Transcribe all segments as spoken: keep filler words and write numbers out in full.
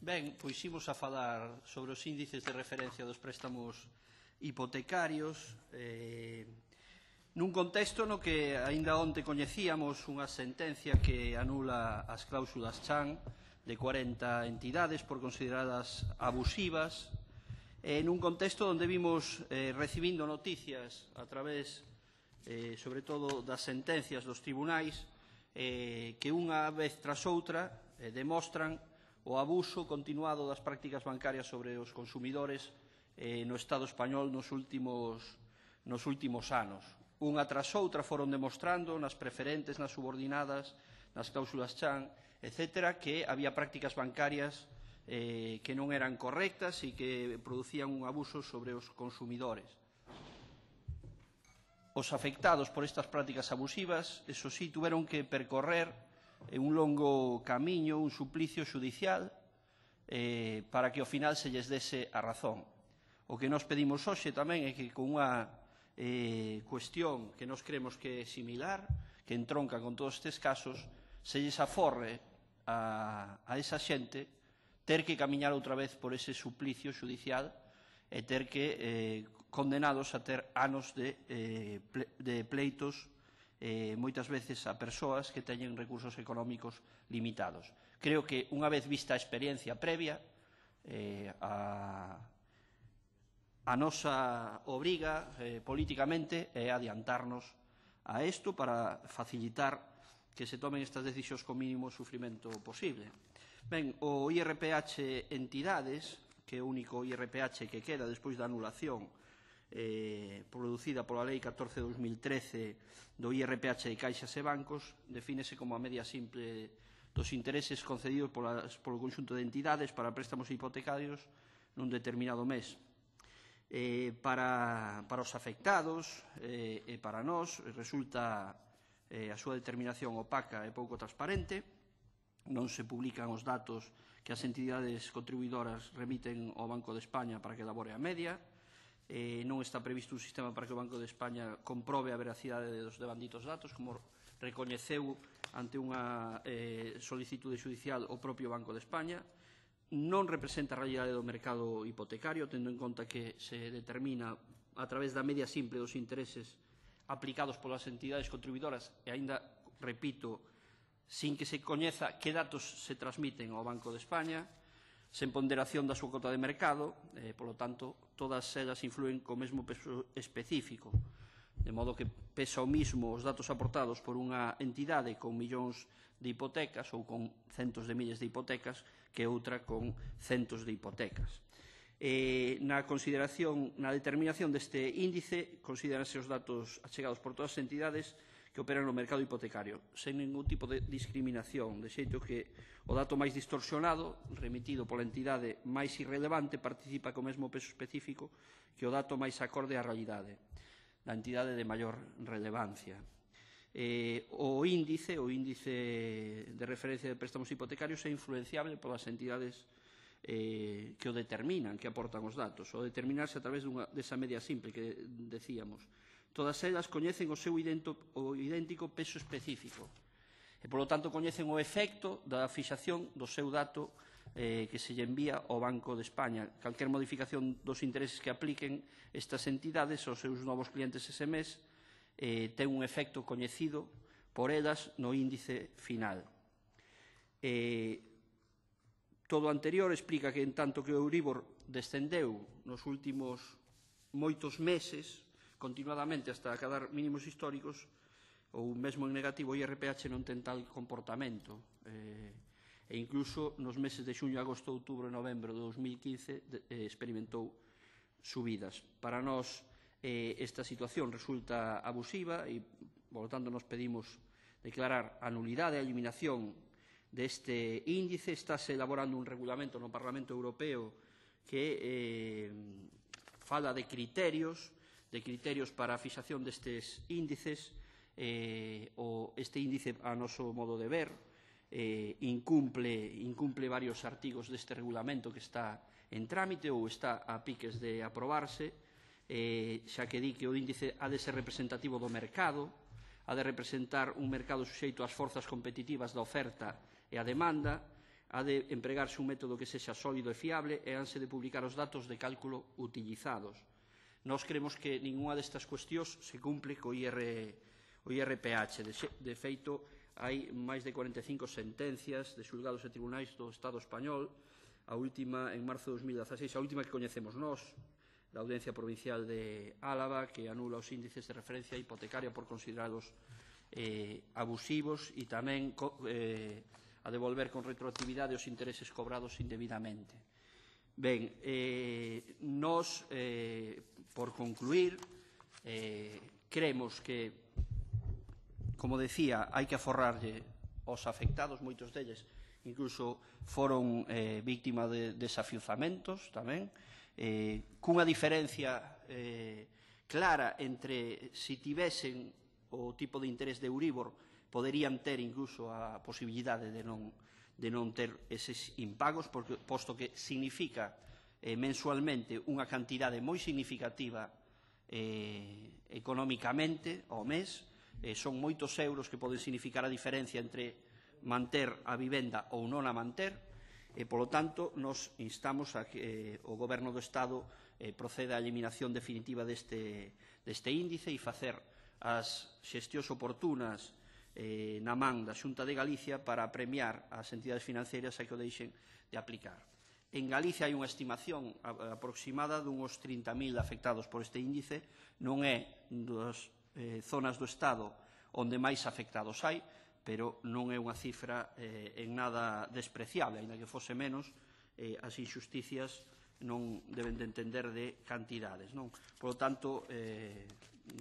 Ben, pois imos a falar sobre os índices de referencia dos préstamos hipotecarios eh, nun contexto no que aínda onte coñecíamos unha sentencia que anula as cláusulas Chan de cuarenta entidades por consideradas abusivas, eh, nun contexto onde vimos eh, recibindo noticias a través, eh, sobre todo, das sentencias dos tribunais eh, que unha vez tras outra eh, demostran o abuso continuado das prácticas bancarias sobre os consumidores eh, no Estado español nos últimos, nos últimos anos. Unha tras outra foron demostrando nas preferentes, nas subordinadas, nas cláusulas Chan, etcétera, que había prácticas bancarias eh, que non eran correctas e que producían un abuso sobre os consumidores. Os afectados por estas prácticas abusivas, eso sí, tuveron que percorrer un longo camiño, un suplicio xudicial eh, para que ao final se lles dese a razón. O que nos pedimos hoxe tamén é que con unha eh, cuestión que nos creemos que é similar, que entronca con todos estes casos, se lles aforre a, a esa xente ter que camiñar outra vez por ese suplicio xudicial e ter que eh, condenados a ter anos de, eh, ple, de pleitos eh, moitas veces a persoas que teñen recursos económicos limitados. Creo que unha vez vista a experiencia previa, eh, a, a nosa obriga eh, políticamente é adiantarnos a isto para facilitar que se tomen estas decisións con mínimo sufrimento posible. Ben, o I R P H entidades, que é o único I R P H que queda despois da anulación eh, producida pola Lei catorce barra dos mil trece do I R P H de caixas e bancos, defínese como a media simple dos intereses concedidos polas, polo conxunto de entidades para préstamos hipotecarios nun determinado mes. Eh, para, para os afectados eh, e para nós resulta eh, a súa determinación opaca e pouco transparente, non se publican os datos que as entidades contribuidoras remiten ao Banco de España para que elabore a media, eh, non está previsto un sistema para que o Banco de España comprobe a veracidade dos devanditos datos, como recoñeceu ante unha eh, solicitude judicial o propio Banco de España. Non representa a realidade do mercado hipotecario, tendo en conta que se determina a través da media simple dos intereses aplicados polas entidades contribuidoras e, aínda, repito, sin que se coñeza que datos se transmiten ao Banco de España, sen ponderación da súa cota de mercado, eh, polo tanto, todas elas influen co mesmo peso específico, de modo que pesa o mismo os datos aportados por unha entidade con millóns de hipotecas ou con centos de miles de hipotecas que outra con centos de hipotecas. Eh, na consideración, na determinación deste índice, consideranse os datos achegados por todas as entidades que operan no mercado hipotecario, sen ningún tipo de discriminación, de xeito que o dato máis distorsionado, remitido pola entidade máis irrelevante, participa co mesmo peso específico que o dato máis acorde á realidade da entidade de maior relevancia. Eh, o índice, o índice de referencia de préstamos hipotecarios é influenciable polas entidades eh, que o determinan, que aportan os datos, o determinarse a través dunha, desa media simple que decíamos. Todas elas coñecen o seu idento, o idéntico peso específico e, polo tanto, coñecen o efecto da fixación do seu dato eh, que se lle envía ao Banco de España. Calquer modificación dos intereses que apliquen estas entidades aos seus novos clientes ese mes eh, ten un efecto coñecido por elas no índice final. Eh, todo o anterior explica que, en tanto que o Euribor descendeu nos últimos moitos meses, continuadamente hasta acadar mínimos históricos, ou mesmo en negativo, o I R P H non ten tal comportamento. Eh, e incluso nos meses de xuño, agosto, outubro e novembro de dos mil quince de, eh, experimentou subidas. Para nós eh, esta situación resulta abusiva e, por lo tanto, nos pedimos declarar a nulidade e a eliminación deste índice. Estáse elaborando un regulamento no Parlamento Europeo que eh, fala de criterios de criterios para a fixación destes índices. Eh, o este índice, a noso modo de ver, eh, incumple, incumple varios artigos deste regulamento que está en trámite ou está a piques de aprobarse, eh, xa que di que o índice ha de ser representativo do mercado, ha de representar un mercado suxeito ás forzas competitivas da oferta e a demanda, Ha de empregarse un método que sexa sólido e fiable e hanse de publicar os datos de cálculo utilizados. Nós creemos que ninguna destas cuestións se cumple co I R, o I R P H. De, de feito, hai máis de cuarenta e cinco sentencias de xulgados e tribunais do Estado español, a última en marzo de dos mil dieciséis, a última que coñecemos nós, da Audiencia Provincial de Álava, que anula os índices de referencia hipotecaria por considerados eh, abusivos e tamén eh, a devolver con retroactividade os intereses cobrados indebidamente. Ben, eh, nós, eh, por concluir, eh, creemos que, como decía, hai que aforrarlle aos afectados, moitos deles incluso foron eh, víctima de desafiuzamentos tamén, eh, cunha diferencia eh, clara entre si tivesen o tipo de interés de Euribor, poderían ter incluso a posibilidade de non, de non ter eses impagos, porque, posto que significa eh, mensualmente unha cantidade moi significativa eh, económicamente ao mes, eh, son moitos euros que poden significar a diferencia entre manter a vivenda ou non a manter, e, polo tanto, nos instamos a que eh, o Goberno do Estado eh, proceda á eliminación definitiva deste, deste índice e facer as xestións oportunas eh, na man da Xunta de Galicia para premiar as entidades financeiras a que o deixen de aplicar. En Galicia hai unha estimación aproximada dunhos trinta mil afectados por este índice, non é das eh, zonas do Estado onde máis afectados hai, pero non é unha cifra eh, en nada despreciable, ainda que fose menos, eh, as injusticias non deben de entender de cantidades, non? Por lo tanto, eh,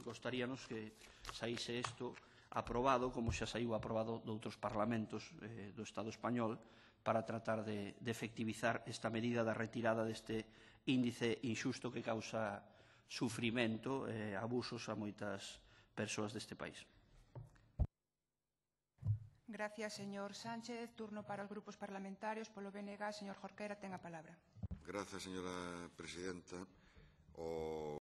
gostaríanos que saíse isto aprobado, como xa saiu aprobado de outros parlamentos eh, do Estado español, para tratar de, de efectivizar esta medida da retirada deste índice injusto que causa sufrimento e eh, abusos a moitas persoas deste país. Gracias, señor Sánchez. Turno para os grupos parlamentarios. Polo B N G, señor Jorquera, ten a palabra. Gracias, señora presidenta. O